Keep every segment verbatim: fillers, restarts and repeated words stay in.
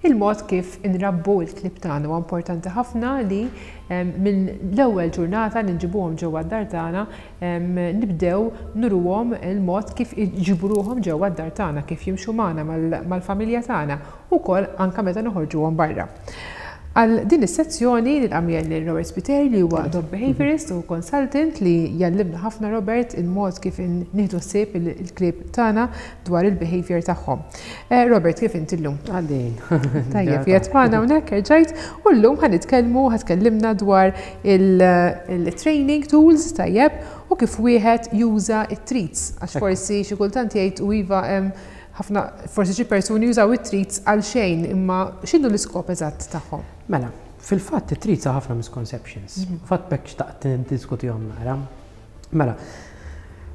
Il-mod kif inrabbu il-klieb tagħna huwa importanti ħafna li minn l-ewwel ġurnata li nġibuhom ġewwa d-dar tagħna nibdew nuruhom il-mod kif iġiburuhom ġewwa d-dar tagħna, kif jimxu magħna mal-familja tagħna, ukoll anke meta noħorġuhom barra. Għal din is-sezzjoni nilqa' lil Robert Spiteri, li huwa dog behaviorist u consultant li jgħallimna ħafna, Robert, il-mod kif nieħdu ħsieb il-klieb tagħna dwar il-behavior tagħhom. Eh, Robert, kif inti llum? Għaddejn. Tajjeb, qiegħed magħna hawnhekk erġajt u llum ħa nitkellmu, ħa tkellimna dwar il-training tools, tajjeb, u kif wieħed juża it-treats, għax forsi xi kultant jgħid u iva, ħafna forsi xi persuni jużaw it-treats għal xejn, imma x'inhu l-iskop eżatt tagħhom? Mela, fil-fatt it-treats ħafna misconceptions. Mhm. Fatt bekk xtaqt niddiskutihom naqra. Mela,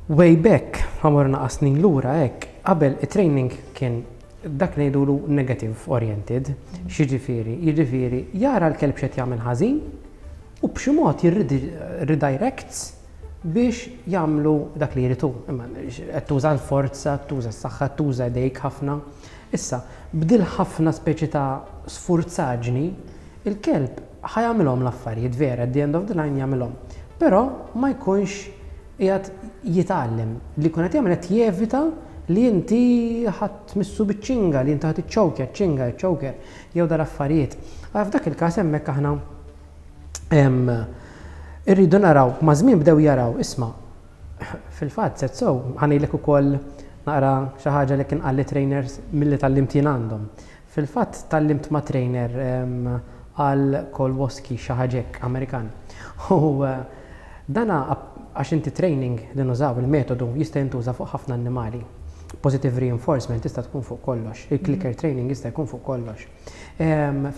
way back, ħa mmur naqra snin lura hekk, qabel it-training kien dak ngħidulu negative oriented, mhm. x'jiġifieri? Jiġifieri jara l-kelb x'qed jagħmel ħażin u b'xi mod jirredirects biex jagħmlu dak li jridu. Imma qed tuża l-forza, tuża s-saħħa, tuża idejk ħafna. Issa, b'dil ħafna speċi ta' sfurzaġni, il-kelb ħa jagħmilhom l-affarijiet vera, at the end of the line jagħmilhom. Però ma jkunx qiegħed jitgħallem, li jkun qed jagħmel qed jevita li inti ħa tmissu biċ-ċinga, li inti ħa tiċċowkja, ċinga, choker, jew dal-affarijiet. F'dak il-każ hemmhekk aħna irridu naraw, ma' żmien bdew jaraw, isma', fil-fatt, set so, ħa ngħidlek ukoll naqra xi ħaġa li kien qalli trainers milli tgħallimt jien għandhom. Fil-fatt tgħallimt ma' trainer għal Kolwoski, xi ħaġa hekk, Amerikan. U eh, dana għax inti training li nużaw, il-metodu jista' jintuża fuq ħafna annimali. Positive reinforcement tista' tkun fuq kollox, il-clicker training jista' jkun fuq kollox.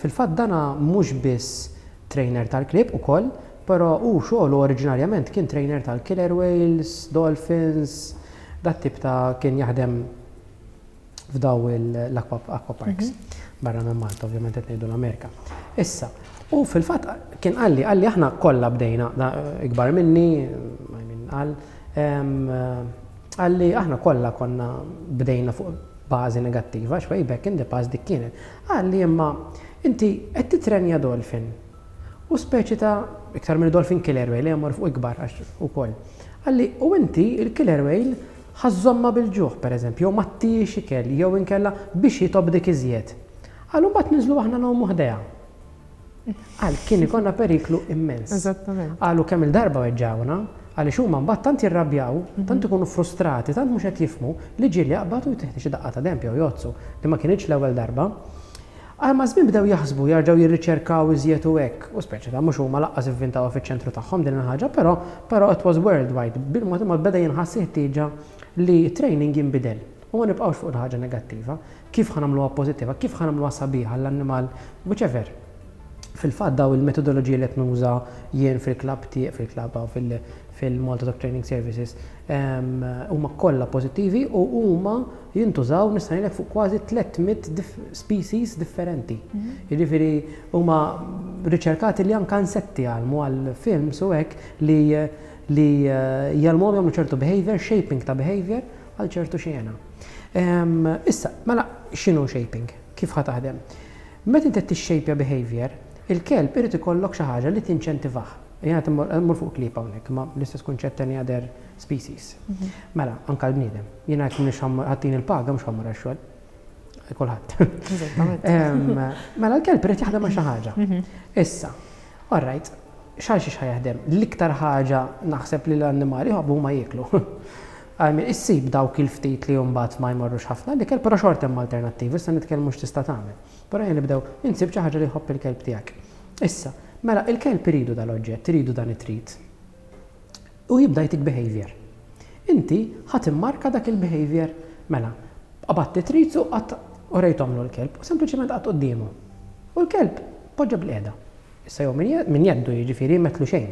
Fil-fatt dana mhux biss trainer tal-klieb ukoll, però u xogħlu oriġinarjament kien trainer tal-killer whales, dolphins, dat tip ta' kien jaħdem f'daw l-aqua parks. Mhm. Barra minn Malta, ovvjament qed ngħidu l-Amerika. Issa, u fil-fatt kien qalli, qalli aħna kollha bdejna, ikbar minni, min qal, qalli aħna kollha konna bdejna fuq bażi negattiva, xwej back in the past dik kienet. Qalli imma inti qed titrenja dolphin. U speċi ta' iktar minn dolphin, killer whale, jemmur fuq ikbar għax ukoll. Qalli u inti il-killer whale ħa żżommha bil-ġuħ, per eżempju, jew ma ttihiex ikel, jew inkella biex jitobdik iżjed. Qallu mbagħad ninżlu aħna ngħumu ħdejha. Qal kien ikollna periklu immens. Eżattament. Qalu kemm il-darba weġġawna, għaliex huma mbagħad tant jirrabjaw, tant ikunu frustrati, tant mhux qed jifhmu li ġieli jaqbad u jtih xi daqqa ta' denb jew jgħoddsu, li ma kienx l-ewwel darba. Għal ma żmien bdew jaħsbu, jarġgħu jirriċerkaw iżjed u hekk, u speċi ta' mhux huma lanqas ivvintaw fiċ-ċentru tagħhom din il-ħaġa, però però it was worldwide. Bil-mod imod beda jinħass ħtieġa li training jinbidel. U ma nibqgħux fuq il-ħaġa negattiva. Kif ħa nagħmluha pożittiva, kif ħa nagħmluha sabiħa l-annimal, whichever. Fil-fatt daw il-metodoloġiji li qed nuża jien fil-klabb tiegħek, fil-klabb fil-Malta Dog Training Services, huma kollha pożittivi u huma jintużaw, nista' ngħidlek, fuq kważi tliet mitt species differenti. Mhm. Jiġifieri huma riċerkati li anke insetti għalmu għal films u hekk li li eh, jgħallmuhom jagħmlu ċertu behavior, shaping ta' behavior għal ċertu xena. Issa, mela x'inhu shaping? Kif ħa taħdem? Meta inti tixxejpja behavior, il-kelb irid ikollok xi ħaġa li tinċentivah. Jiena mmur fuq klieb hawnhekk, ma l-istess kunċett any other species. Mhm. Mela, anka l-bniedem. Jiena jekk mhux ħa ttini l-paga, mhux ħa mmur għax-xogħol. Kulħadd. Mela l-kelb irid jaħdem ma' xi ħaġa. Mhm. Issa, all right, xal xi jaħdem? L-iktar ħaġa naħseb li l-annimali jħobbu huma jieklu. Għajmi, issib dawk il-ftit li mbagħad ma jmorrux ħafna l-ikel, però xorta hemm alternattivi, issa nitkellmu x'tista' tagħmel. Però jien nibdew insib xi ħaġa li jħobb il-kelb tiegħek. Issa, mela il-kelb iridu dal-oġġett, iridu dan it-treat. U jibda jtik behavior. Inti ħa timmarka dak il-behavior, mela, qabadt treats u qatt u rejtomlu l-kelb, u sempliċement qatt quddiemu. U l-kelb poġġa bilqiegħda. Issa jew min jeddu, jiġifieri metlu xejn.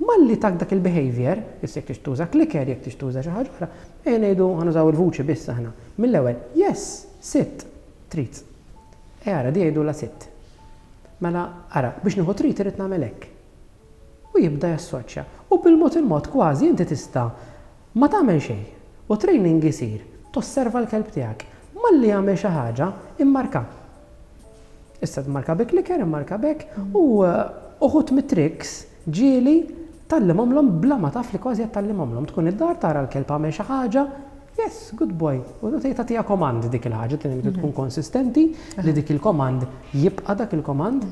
Malli tak dak il-behavior, issa jekk tuża clicker, jekk tuża xi ħaġa oħra, ejja ngħidu ħa nużaw il-vuċi biss aħna. Mill-ewwel, yes, sit, treat. E ara, di jgħidu la sit. Mela, ara, biex nieħu treat irid nagħmel hekk. U jibda jassoċja. U bil-mod il-mod kważi inti tista' ma tagħmel xejn. U training isir, tosserva l-kelb tiegħek. Malli jagħmel xi ħaġa, immarka. Issa marka bi clicker, marka b'hekk, u uħud mit-tricks ġieli tgħallimhomlhom bla ma taf li kważi qed tgħallimhomlhom. Tkun id-dar, tara l-kelb għamel xi ħaġa, "Yes, good boy." U tagħtiha command dik il-ħaġa, tkun konsistenti li dik il-command jibqa' dak il-command,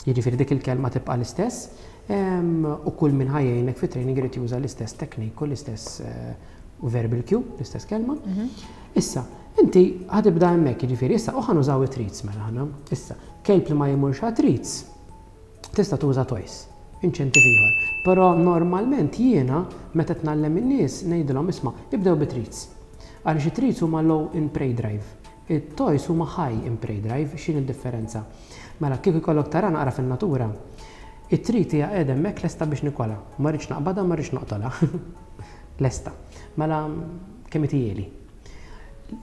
jiġifieri dik il-kelma tibqa' l-istess. U kull min ħa jgħinek fi training irid juża l-istess technique u l-istess eh, verbal cue, l-istess kelma. Issa, inti ħa tibda hemmhekk, jiġifieri issa u ħa nużaw it-treats mela aħna. Issa, kelb li ma jmurx treats, tista' tuża toys, inċentiv ieħor. Però normalment jiena meta tgħallem in-nies ngħidilhom, "Isma', ibdew bi treats." Għaliex it-treats huma low in prey drive. It-toys huma high in prey drive. X'in id-differenza? Mela kieku jkollok tara naqra fin-natura, it-treat hija qiegħda hemmhekk lesta biex nikolha. Ma rridx naqbadha, ma rridx noqtolha. Lesta. Mela kemm itieli.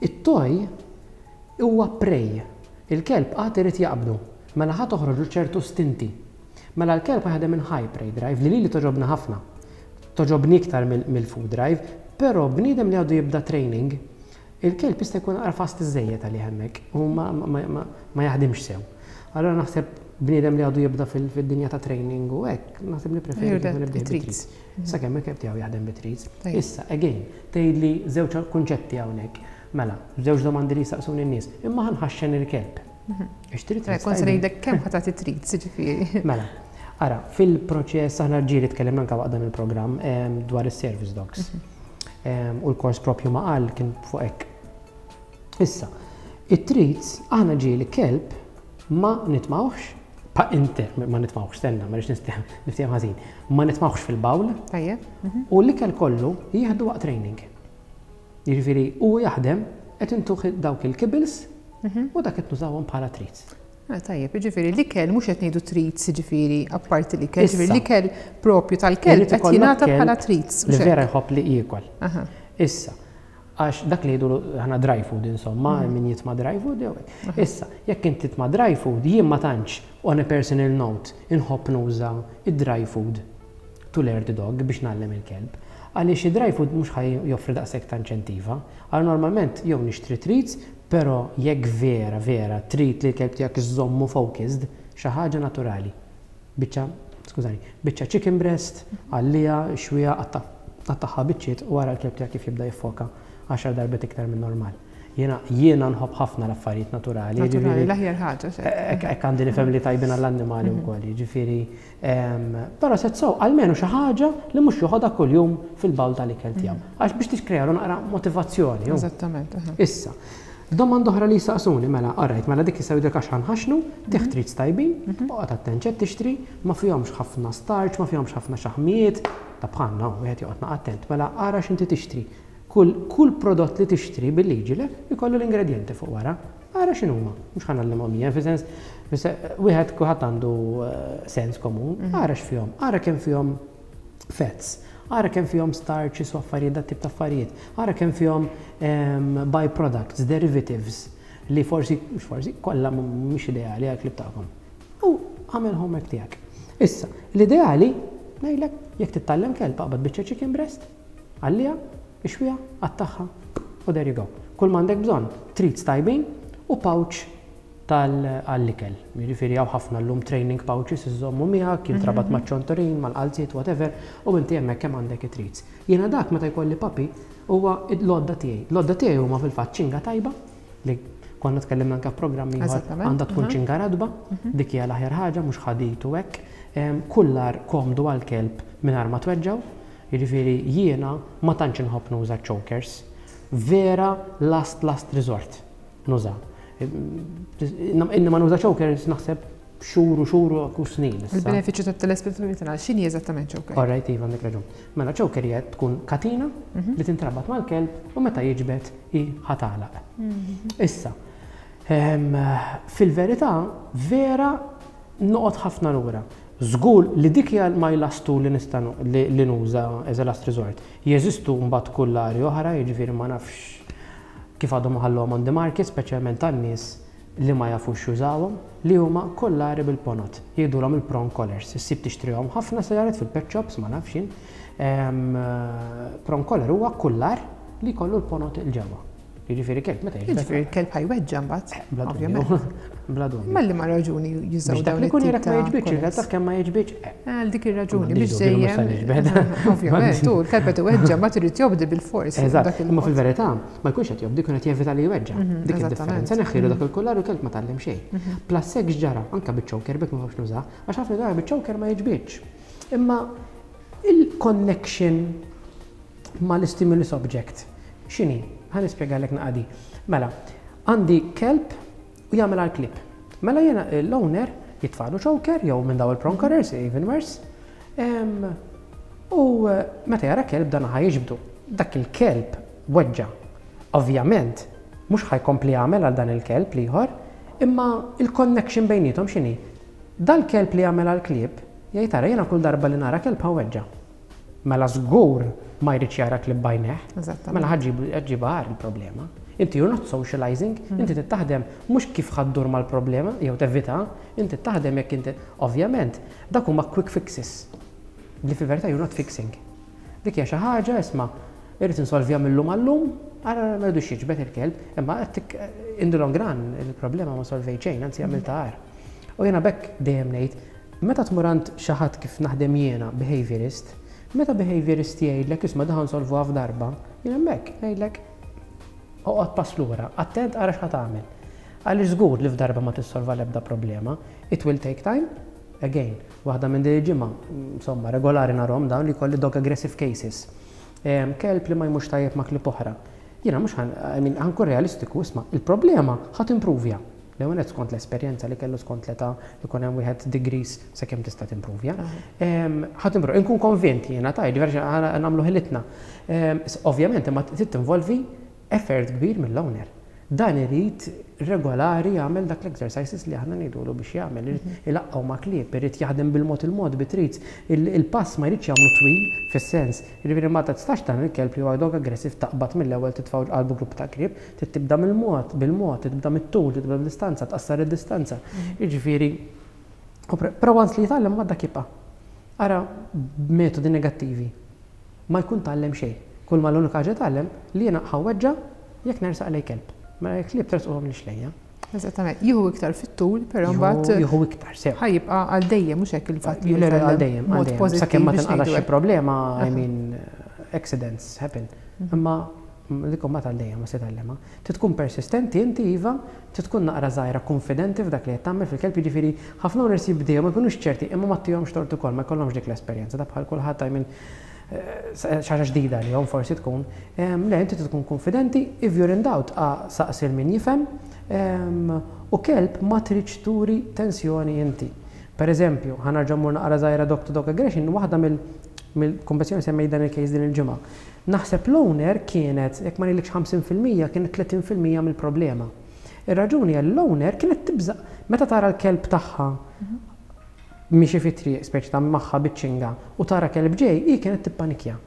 It-toy huwa prey. Il-kelb għad irid jaqbdu. Mela ħa toħroġu ċertu stinti. Mela l-kelb jaħdem minn high prey drive li li li togħġobna ħafna. Togħġobni iktar mill-food drive, però bniedem li għadu jibda training, il-kelb jista' jkun naqra fast iżejjed għalih hemmhekk u ma jaħdimx sew. Allora naħseb bniedem li għadu jibda fil-dinja ta' training u hekk, naħseb li preferi nibda bit-treats. Sakemm il-kelb tiegħu jaħdem bit-treats. Issa, again, tgħidli żewġ kunċetti hawnhekk. Mela, żewġ domandi li jistaqsuni n-nies. Imma ħa nħaxxen il-kelb. Ixtri treats. Kont se ngħidlek kemm ħa tagħti treats, ġifieri. Mela, ara, fil-proċess aħna ġieli tkellimna anke waqt dan il-programm dwar is-service dogs. U l-kors propju ma qal kien fuq hekk. Issa, it-treats aħna ġieli kelb ma nitmawx, pa inter, ma nitmawx, stenna, ma rridx niftiehem ħażin, ma nitmawx fil-bowl. Tajjeb. U l-ikel kollu jieħdu waqt training. Jiġifieri u jaħdem qed intuh dawk il-kibbles u dak qed nużawhom bħala treats. Ah, tajjeb, ġifieri l-ikel mhux qed ngħidu treats, ġifieri apparti l-ikel, ġifieri l-ikel propju tal-kelb qed jingħata bħala treats. Li vera jħobb li jiekol. Issa, għax dak li jgħidu aħna dry food insomma, mhm. min jitma dry food jew. Issa, jekk inti titma dry food, jien ma tantx, on a personal note, inħobb nuża id-dry food to learn the dog, biex ngħallem il-kelb. Għaliex id-dry food mhux ħa joffri daqshekk ta' inċentiva. Għal normalment jew nixtri treats, però jekk vera, vera, trid li l-kelb tiegħek iżommu focused, xi ħaġa naturali. Biċċa, skużani, biċċa chicken breast, għallija, xwija, qattagħha biċċiet u wara l-kelb tiegħek kif jibda jiffoka għaxar darbiet iktar minn normal. Jiena jiena nħobb ħafna l-affarijiet naturali. Naturali, l-aħjar ħaġa. Hekk għandi nifhem li tajbin għall-annimali wkoll, jiġifieri. Però set so, almenu xi ħaġa li mhux joħodha kuljum fil-bowl tal-ikel tiegħu. Għax biex tikkrealu naqra motivazzjoni. Eżattament. Issa, domanda oħra li jistaqsuni, mela, alright, mela dik jistgħu jidhek għax ħa nħaxxnu, tih treats tajbin, oqgħod attent x'qed tixtri, ma fihomx ħafna starch, ma fihomx ħafna xaħmijiet, ta' bħalna, wieħed joqgħod attent, mela ara x'inti tixtri. Kull, kull prodott li tixtri bil-liġi le jkollu l-ingredienti fuq wara. Ara x'inhuma, mhux ħa ngħallimhom jien, fi sens, wieħed kulħadd għandu eh, sens komun, mhm. ara x'fihom, ara kemm fihom fats, ara kemm fihom starches u affarijiet, dat tip ta' affarijiet, ara kemm fihom byproducts, derivatives li forsi, mhux forsi, kollha mhux ideali għal tagħkom. U għamel homework tiegħek. Issa, l-ideali, ngħidlek, jekk titgħallem kelb, aqbad biċċa chicken breast, għallija, ixwija, qattagħha, u there you go. Kull m'għandek bżonn, treats tajbin u pouch tal-ikel. Jiġifieri hawn ħafna llum training pouches iżommu miegħek, jintrabat mhm. maċ-ċontorin, mal-qalziet, whatever, u inti hemmhekk kemm għandek it-treats. Jiena dak meta jkolli puppy huwa l-għodda tiegħi. L-għodda tiegħi huma fil-fatt ċinga tajba li konna tkellimna anke f'programmi għandha tkun ċinga radba, mhm. dik hija l-aħjar ħaġa, mhux ħadid u hekk. Kullar komdu għal-kelb mingħajr ma tweġġaw. Jiġifieri jiena ma tantx inħobb nuża chokers. Vera last last resort nuża. Inni ma nuża chokers naħseb xhur u xhur u snin. Il-benefiċċju tat-telespettaturi tagħna, x'inhi eżattament choker? All right, iva, għandek raġun. Mela choker hija tkun katina mhm. li tintrabat mal-kelb u meta jiġbed i ħa tagħlaq. Mhm. Issa, fil-verità vera noqgħod ħafna lura. Żgur li dik hija my last tool li nista' li nuża as a last resort. Jeżistu mbagħad kullari oħra, jiġifieri ma nafx kif għadhom ħallhom on the market, speċjalment tan-nies li ma jafux jużawhom, li huma kollari bil-ponot. Jgħidulhom il-prong collars. Issib tixtrihom ħafna sajaret fil-pet shops, ma nafx jien. Prong collar huwa kullar li jkollu l-ponot il-ġewwa. Jiġifieri kelb meta jiġbed. Jiġifieri kelb ħa jweġġa' mbagħad. Bla dubju. Bla dubju. Malli ma raġuni jużaw dawn. Dak li kun jara ma jiġbidx, il taf kemm ma jiġbidx. Għal dik ir-raġuni biex dejjem. Ovvjament, tu l-kelb qed iweġġa' ma trid jobdi bil-fors. Eżatt, imma fil-verità ma jkunx qed jobdi, kun qed jevita li jweġġa'. Mhm, dik id-differenza, neħħilu dak il-kollar u l-kelb ma tgħallem xejn. Mhm. Plus hekk ġara, anke biċ-choker bek ma nafx nużah, għax ħafna drabi biċ-choker ma jiġbidx. Imma il-connection mal-stimulus object, x'inhi? Ħa nispjegalek naqadi. Mela, għandi kelb u jagħmel għal klieb. Mela jiena l-owner jitfagħlu choker jew minn daw il-prong collars, even worse. U meta jara kelb dan ħa jiġbdu. Dak il-kelb weġġa'. Ovvjament, mhux ħa jkompli jagħmel għal dan il-kelb l-ieħor, imma il-connection bejniethom x'inhi? Dal-kelb li jagħmel għal klieb, jgħid tara jiena kull darba li nara kelb ħa weġġa'. Mela żgur ma jridx jara klieb b'għajnejh. Mela ħa ġġibha agħar il-problema. Inti you're not socializing, mm. inti taħdem mhux kif ħa ddur mal-problema jew tevita, inti taħdem jekk inti ovvjament dak huma quick fixes. Li fil-verità you're not fixing. Dik hija xi ħaġa isma' irrid insolvija mill-lum għallum, ara ma rridux jiġbed il-kelb, imma in the long run il-problema ma solvejt xejn, anzi għamiltha agħar. U jiena b'hekk dejjem ngħid, meta tmur għand xi ħadd kif naħdem jiena behaviorist, meta behaviorist jgħidlek isma' dan solvuha f'darba, jien hemmhekk ngħidlek oqgħod pass lura, attent ara x'ħa tagħmel. Għaliex żgur li f'darba ma tissolva l-ebda problema, it will take time. Again, waħda minn din il-ġimgħa, insomma, regolari narahom dawn li kolli dog aggressive cases. Kelb li ma jmux tajjeb ma' klieb oħra. Jiena mhux ħa nkun realistiku, isma' il-problema ħa timprovja. L-ewwel skont l-esperjenza li kellu, skont l-età li kun hemm wieħed degrees sakemm tista' timprovja. Ħa timprovja, inkun konvint jiena ta' jiġifieri nagħmlu ħilitna. Ovvjament imma trid tinvolvi effort kbir mill-owner. Dan irid regolari jagħmel dak l-exercises li aħna ngħidulu biex jagħmel, irid mhm. ilaqqgħu ma' klieb, irid jaħdem bil-mod il-mod bit-treats. Il-pass ma jridx jagħmlu twil fis-sens. Jiġifieri ma tistax dan il-kelb li huwa dog aggressive taqbad mill-ewwel titfgħu qalbu grupp ta' klieb, trid tibda mill-mod, bil-mod, tibda mit-tul, tibda bil-distanza, tqassar id-distanza. Mhm. Jiġifieri, però once li jitgħallem ma dak jibqa'. Ara metodi negattivi. Ma jkun tgħallem xejn. Kull ma l-unika ħaġa tgħallem li jiena ħa nweġġa' jekk nersaq lej kelb. Ma klieb tersquhom li xlejja. Eżattament, jieħu iktar fit-tul, però mbagħad jieħu iktar sew. Ħa jibqa' għal dejjem, mhux hekk, il-fatt li għal dejjem, għal dejjem. Sakemm ma tinqalax xi problema, I mean, accidents happen. Mhm. Imma dik ma tal dejjem ma se tgħallimha. Trid tkun persistenti inti iva, trid tkun naqra żgħira konfidenti f'dak li qed tagħmel fil-kelb, jiġifieri ħafna owners jibdew ma jkunux ċerti, imma ma ttihomx tort ukoll, ma jkollhomx dik l-esperjenza ta' bħal kulħadd, I mean, xi ħaġa ġdida li jom forsi tkun. Le, inti tkun konfidenti, if you're in doubt, saqsi min jifhem, u kelb ma tridx turi tensjoni inti. Per eżempju, ħa nerġa' mmur naqra żgħira dog to dog aggression, waħda mill-kompetizzjoni semmej dan il-case din il-ġimgħa. Naħseb l-owner kienet, jekk ma ngħidlekx ħamsin fil-mija, kienet tletin fil-mija mill-problema. Ir-raġuni għall-owner kienet tibża meta tara l-kelb tagħha miexi fit-triq, speċi ta' magħha biċ-ċinga, u tara kelb ġej, hi kienet tippanikja.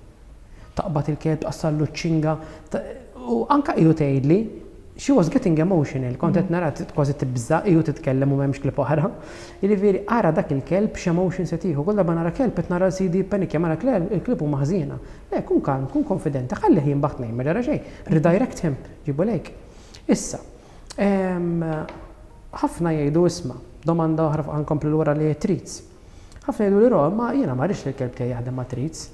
Taqbad il-kelb, tqassallu ċ-ċinga, u anka iju tgħidli, she was getting emotional, kont qed nara kważi tibża, iju titkellem u m'hemmx klieb oħra. Jiġifieri ara dak il-kelb x'emotion se tieħu, kull darba nara kelb qed nara sidi panikja, mara il-klieb huma ħżiena. Le, kun kalm, kun konfidenti, ħalli jinbaħ tnejn, ma ġara xejn, redirect him, ġibu lejk. Issa, ħafna jgħidu isma', domanda oħra ħa nkompli lura li treats. Ħafna jgħidu li ro, ma jiena ma rridx li l-kelb tiegħi jaħdem ma' treats.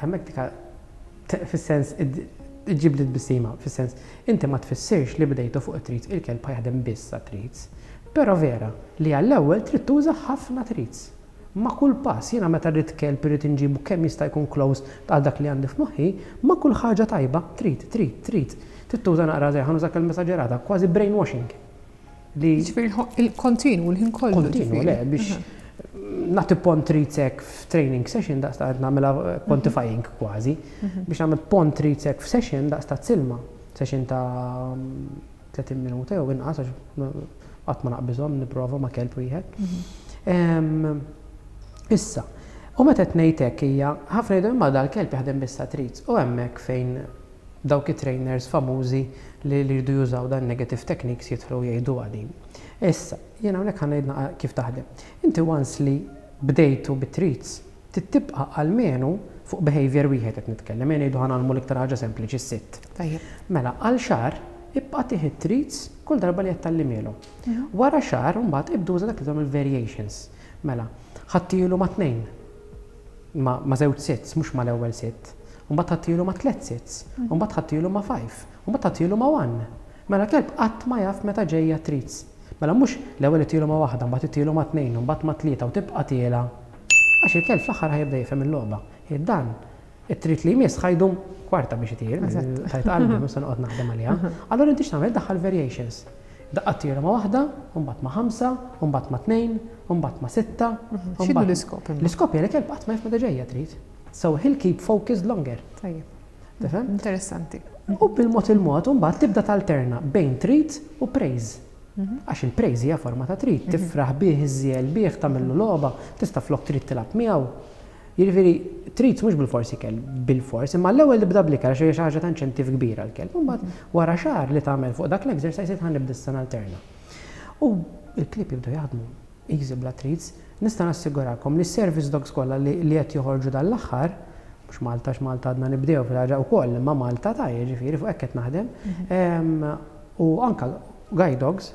Hemmhekk dika fis-sens iġib li tbissima, fis-sens inti ma tfissirx li bdejtu fuq treats, il-kelb jaħdem biss treats. Però vera li għall-ewwel trid tuża ħafna treats. Ma kull pass, jiena meta rrid kelb irrid inġibu kemm jista' jkun close għal dak li għandi f'moħħi, ma kull ħaġa tajba, treat, treat, treat. Trid tuża naqra żej, ħa nuża kelma esaġerata, kważi brainwashing. Li Ġifieri il-kontinu, l-ħin kollu. Kontinu, le, biex nagħti pon treats hekk f'training session daqs ta' nagħmilha quantifying kważi, mhm. biex nagħmel pon treats hekk f'session daqs ta' silma, session ta' tletin minuta jew inqas, għax qatt ma naqbiżhom nipprova ma' kelb wieħed. Mhm. Issa, u meta qed ngħid hekk hija ħafna jgħidu imma dal-kelb jaħdem biss treats u hemmhekk fejn dawk it-trainers famużi li jridu jużaw dan negative techniques jidħlu jgħidu għadin. Issa, jiena hawnhekk ħa ngħid kif taħdem. Inti once li bdejtu bit-treats, tibqa' almenu Fuq behavior wieħed qed nitkellem, jien ngħidu ħa nagħmlu l-iktar ħaġa sempliċi, sit. Tajjeb. Mela, għal xahar ibqa' tih treats kull darba li qed tgħallimhielu. Wara xahar mbagħad ibda uża dak li tagħmel variations. Mela, ħa ttihielu ma' tnejn. Ma, ma żewġ sits, mhux ma l-ewwel sit. Mbagħad ħa ttihielu ma' tliet sits, mbagħad ħa ttihielu ma' five, mbagħad ħa ttihielu ma' one. Mela kelb qatt ma jaf meta ġejja treats. Mela mhux l-ewwel ittihielu ma' waħda, mbagħad ittihielu ma' tnejn, mbagħad ma' tlieta u tibqa' tiela. Għax il-kelb fl-aħħar ħa jibda jifhem il-logħba. Dan it-treat li jmiss ħa jdum kwarta biex itir, tajt qalbi, mhux se noqgħod naħdem għaliha. Allora inti x'tagħmel? Daħħal variations. Daqqa tira ma' waħda, mbagħad ma' ħamsa, mbagħad ma' tnejn, mbagħad ma' sitta. X'inhu l-iskop? L-iskop hija li kelb qatt ma jaf meta ġejja treat. So he'll keep focused longer. Tajjeb. Tifhem? Interessanti. U bil-mod il-mod, mbagħad tibda talterna bejn treat u praise. Għax il-praise hija forma ta' treat, tifraħ bih, iżżiel bih, tagħmillu logħba, tista' flok treat tilgħab miegħu. Jiġifieri treats mhux bil-forsi kell, bil-fors, imma l-ewwel nibda bl-ikel għax hija xi ħaġa ta' inċentiv kbira l-kelb. Imbagħad wara xahar li tagħmel fuq dak l-exercise ħa nibda issa alterna. U il-klieb jibdew jaħdmu easy bla treats. Nista' nassigurakom li service dogs kollha li qed joħorġu dal-aħħar, mhux Malta, x'Malta għadna nibdew fil-ħaġa wkoll, imma Malta ta' jiġifieri fuq hekk qed naħdem. U anka guide dogs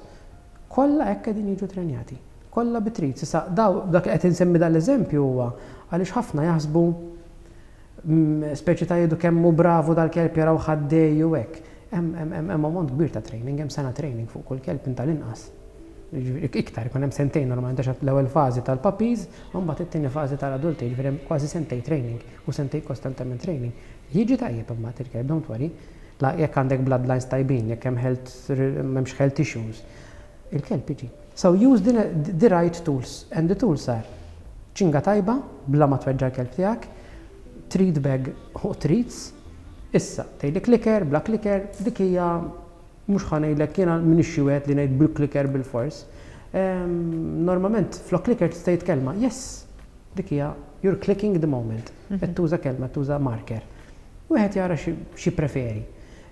kollha hekk qegħdin jiġu trenjati. Kollha bi treats. Issa daw dak qed insemmi dal-eżempju huwa għaliex ħafna jaħsbu mm, speċi ta' jgħidu kemm hu bravu dal-kelb, jaraw ħaddej u hekk. Hemm ammont kbir ta' training, hemm sena training fuq kull kelb tal-inqas. Iktar, ikun hemm sentejn normalment għax l-ewwel fażi tal-puppies, u mbagħad it-tieni fażi tal-adulti, jiġifieri hemm kważi sentejn training u sentejn kostantement training. Jiġi tajjeb imbagħad il-kelb, don't worry. La jekk għandek bloodlines tajbin, jekk hemm health, m'hemmx health issues, il-kelb jiġi. So use the, the right tools, and the tools are ċinga tajba, bla ma tweġġa l-kelb tiegħek, treat bag u treats. Issa, tgħidli clicker, bla clicker, dik hija mhux ħa ngħidlek jiena m'iniex xi wieħed li ngħid bil-clicker bil-fors. Normalment flok clicker tista' tgħid kelma, yes, dik hija you're clicking the moment. Qed tuża kelma, tuża marker. Wieħed jara xi preferi.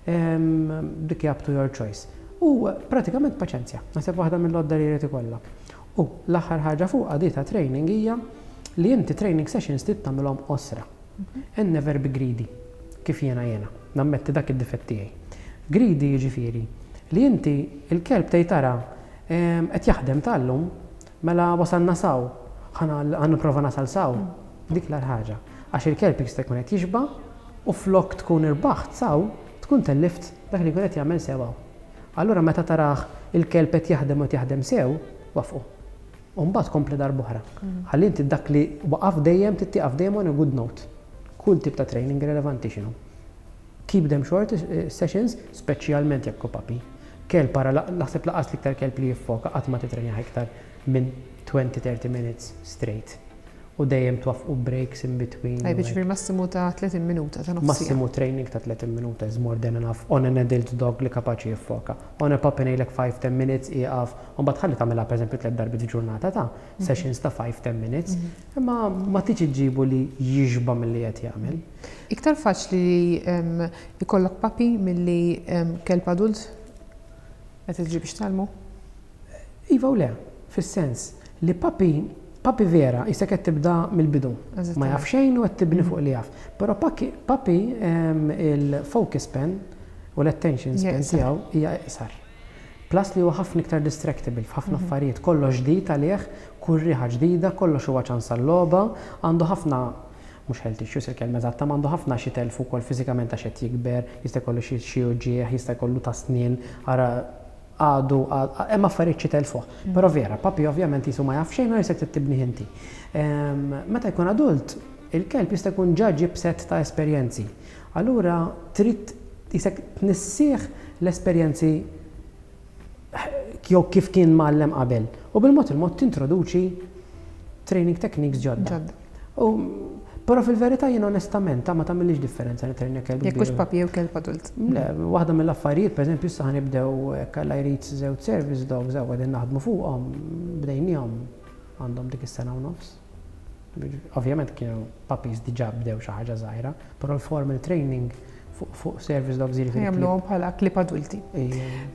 Dik hija up to your choice. U pratikament paċenzja, naħseb waħda mill-għodda li jrid ikollok. U l-aħħar ħaġa fuq di ta' training hija li inti training sessions trid tagħmilhom qosra. And never be greedy, kif jiena jiena, nammetti dak id-difett tiegħi. Greedy jiġifieri li inti il-kelb tgħid tara qed jaħdem tal-lum, mela wasalna s'hawn, ħa nipprova nasal s'hawn. Dik l-ħaġa. Għax il-kelb jista' jkun qed jixba u flok tkun irbaħt s'hawn, tkun tellift dak li jkun qed jagħmel sew. Allura meta tarah il-kelb qed jaħdem u qed jaħdem sew, waqfu. U mbagħad kompli darb'oħra. Ħalli inti dak li waqaf dejjem tittiqaf dejjem on a good note. Kull tip ta' training relevanti x'inhu. Keep them short eh, sessions, speċjalment jekk puppy. Kelb para naħseb laqas l-iktar kelb li jiffoka qatt ma titrenja iktar minn twenty to thirty minutes straight. U dejjem twaffqu breaks in between. Tajb, ġifieri massimu ta' tletin minuta ta' nofs. Massimu training ta' tletin minuta is more than enough on an adult dog li kapaċi jiffoka. On a puppy ngħidlek five to ten minutes ieqaf, u mbagħad ħalli tagħmilha pereżempju tliet darbiet f'ġurnata ta' mhm. sessions ta' five to ten minutes. Mhm. Imma ma tiġi ġibu li jixba milli qed jagħmel. Iktar faċli li ikollok puppy milli kelb adult qed iġib biex tgħallmu? Iva u le, fis-sens li puppy puppy vera, issa qed tibda mill-bidu. Ma jaf xejn u qed tibni fuq li jaf. Però puppy il-focus span u l-attention span tiegħu hija iqsar. Plus li huwa ħafna iktar distractible f'ħafna mhm. affarijiet, kollox ġdid għalih, kull riħa ġdida, kollox huwa ċans għal-logħba, għandu ħafna mhux health issues il-kelma eżatta, ma għandu ħafna xi telfu wkoll fiżikament għax qed jikber, jista' jkollu xi uġieħ, jista' jkollu ta' snien, ara għadu, hemm affarijiet xi telfuh. Mm. Però vera, puppy ovvjament jisu ma jaf xejn u jisek tibni inti. Meta jkun adult, il-kelb jista' jkun ġa ġib set ta' esperjenzi. Allura trid jisek tnissih l-esperjenzi jew kif kien mgħallem qabel. U bil-mod il-mod tintroduċi training techniques ġodda. U Però fil-verità jien onestament ta' ma tagħmilx differenza li trenja kelb. Jekk hux puppy jew kelb adult. Le, waħda mill-affarijiet, pereżempju, issa ħa nibdew kalla jrid żewġ service dogs, żew qegħdin naħdmu fuqhom, bdejniehom għandhom dik is-sena u nofs. Ovvjament kienu puppies diġà bdew xi ħaġa żgħira, però l-formal training Fuq service dogs, jiġifieri. Jagħmluhom bħala klieb adulti.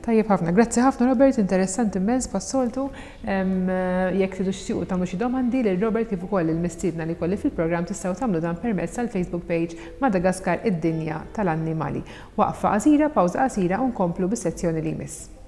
Tajjeb ħafna. Grazzi ħafna, Robert, interessanti immens bħas-soltu. Jekk tridu tixtiequ tagħmlu xi domandi lil Robert kif ukoll il-mistiedna li kelli fil-programm, tistgħu tagħmlu dan permezz tal-Facebook page Madagaskar id-dinja tal-annimali. Waqfa qasira, pawża qasira u nkomplu bis-sezzjoni li jmiss.